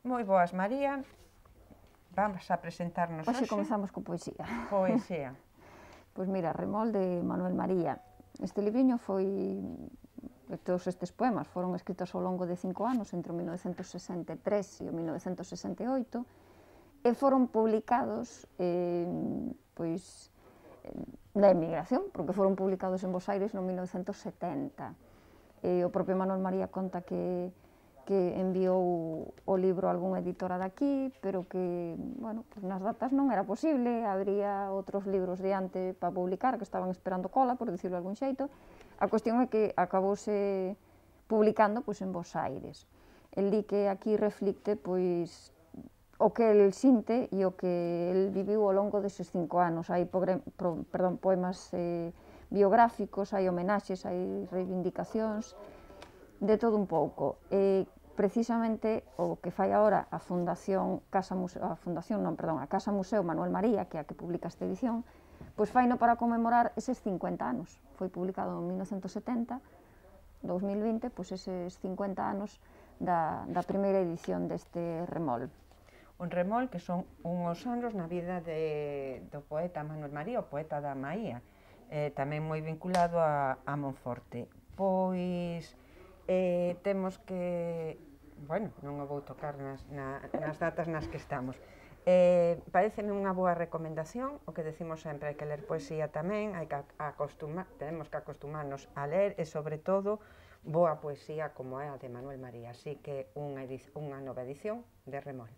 Moi boas, María. Vamos a presentarnos Hoxe hoxe. comezamos con poesía. Poesía. Pois mira, Remol de Manuel María. Este libriño foi, todos estes poemas foron escritos ao longo de 5 anos, entre o 1963 e o 1968, e foron publicados pois, na emigración, porque foron publicados en Bos Aires no 1970. O propio Manuel María conta que enviou o libro a algunha editora daqui, pero que, bueno, pues nas datas non era posible, habría outros libros diante para publicar que estaban esperando cola, por dicirlo de algún xeito. A cuestión é que acabouse publicando pois, en Bos Aires. El di que aquí reflicte pois, o que el sinte e o que el viviu ao longo deses 5 anos. Hai poemas biográficos, hai homenaxes, hai reivindicacións, de todo un pouco. Precisamente o que fai agora a Casa Museo Manuel María, que é a que publica esta edición, pois faino para conmemorar eses 50 anos. Foi publicado en 1970, 2020, pois eses 50 anos da primeira edición deste Remol. Un remol que son unhos anos na vida do poeta Manuel María, o poeta da Maía, tamén moi vinculado a Monforte. Pois temos que, bueno, non o vou tocar nas datas nas que estamos. Pareceme unha boa recomendación, o que decimos sempre, hai que ler poesía tamén, tenemos que acostumarnos a ler e, sobre todo, boa poesía como é a de Manuel María. Así que unha nova edición de Remol.